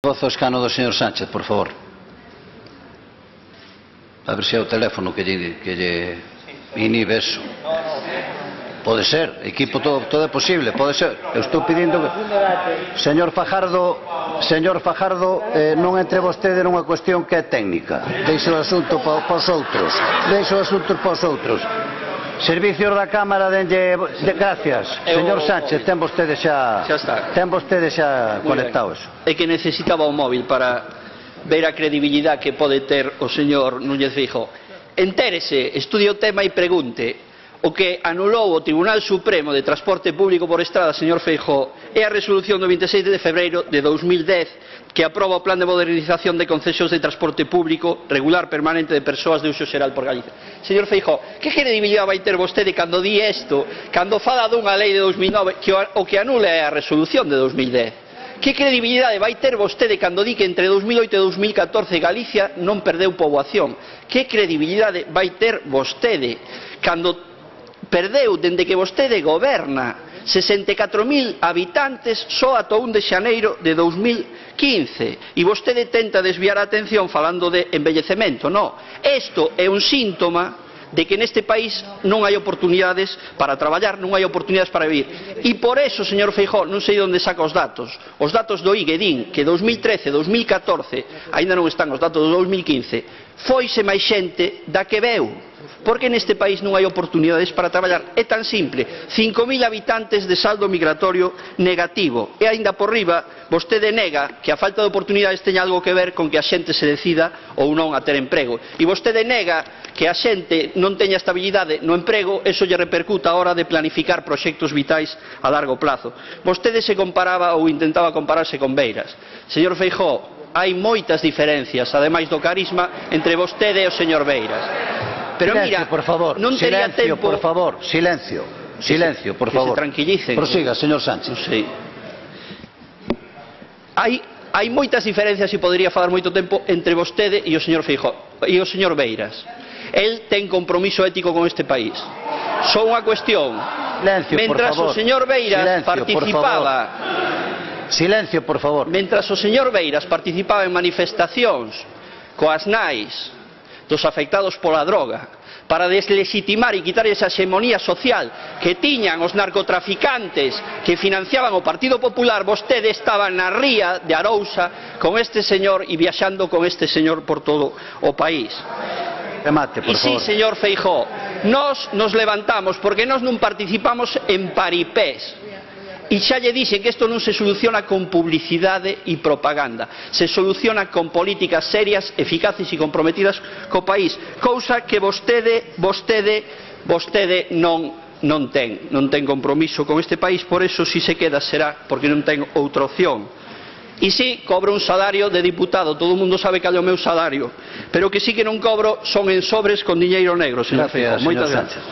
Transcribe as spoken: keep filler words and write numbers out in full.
Voz ao escano do señor Sánchez, por favor. A ver se é o teléfono que lle, que lle inhibe eso. Pode ser, equipo, todo, todo é posible, pode ser. Eu estou pedindo que... Señor Fajardo, señor Fajardo, eh, non entre vostede nunha cuestión que é técnica. Deixe o asunto para pa os outros. Deixe o asunto para os outros. Servicios da Cámara, denlle... De, gracias. Señor Sánchez, ten vostede xa... Xa está. Ten vostede xa conectado eso. É que necesitaba o móvil para ver a credibilidade que pode ter o señor Núñez Feijóo. Entérese, estudie o tema e pregunte. O que anulou o Tribunal Supremo de Transporte Público por Estrada, señor Feijóo, é a resolución do veinte e seis de febreiro de dous mil dez que aproba o Plan de Modernización de Concesións de Transporte Público regular permanente de persoas de uso xeral por Galicia. Señor Feijóo, que credibilidade vai ter vostede cando di isto, cando fala dunha lei de dous mil nove que o que anula é a resolución de dous mil dez? Que credibilidade vai ter vostede cando di que entre dous mil oito e dous mil catorce Galicia non perdeu poboación? Que credibilidade vai ter vostede cando perdeu, dende que vostede goberna, sesenta e catro mil habitantes só ata o un de xaneiro de dous mil quince, e vostede tenta desviar a atención falando de envellecemento? No, isto é un síntoma de que neste país non hai oportunidades para traballar, non hai oportunidades para vivir. E por eso, señor Feijóo, non sei onde saca os datos. Os datos do I G E din que dous mil trece, dous mil catorce, aínda non están os datos do dous mil quince, foise máis xente da que veu. Porque neste país non hai oportunidades para traballar. É tan simple, cinco mil habitantes de saldo migratorio negativo, e aínda por riba vostede nega que a falta de oportunidades teña algo que ver con que a xente se decida ou non a ter emprego, e vostede nega que a xente non teña estabilidade no emprego, eso lle repercuta a hora de planificar proxectos vitais a largo plazo. Vostede se comparaba ou intentaba compararse con Beiras. Señor Feijóo, hai moitas diferencias, ademais do carisma, entre vostede e o señor Beiras. Pero silencio, mira, por favor, non tería silencio, tempo... por favor, silencio, silencio, por favor. Que se tranquilicen. Prosiga, señor Sánchez. Non sei. Hai, hai moitas diferencias e podería falar moito tempo entre vostede e o señor Feijóo e o señor Beiras. El ten compromiso ético con este país. Só unha cuestión. Silencio, Mentras por favor. o señor Beiras silencio, participaba... Por silencio, por favor. Mentras o señor Beiras participaba en manifestacións coas nais dos afectados pola droga para deslegitimar e quitar esa xemonía social que tiñan os narcotraficantes que financiaban o Partido Popular, vostede estaba na ría de Arousa con este señor e viaxando con este señor por todo o país. Remate, por e sí, favor. señor Feijóo, nós nos levantamos porque nós non participamos en paripés. E xa lle dixen que isto non se soluciona con publicidade e propaganda, se soluciona con políticas serias, eficaces e comprometidas co país, cousa que vostede, vostede, vostede non, non ten, non ten compromiso con este país, por eso si se queda será porque non ten outra opción. E si, cobro un salario de diputado, todo o mundo sabe cal é o meu salario, pero que si que non cobro son en sobres con diñeiro negro, señor Feijóo. Moitas gracias.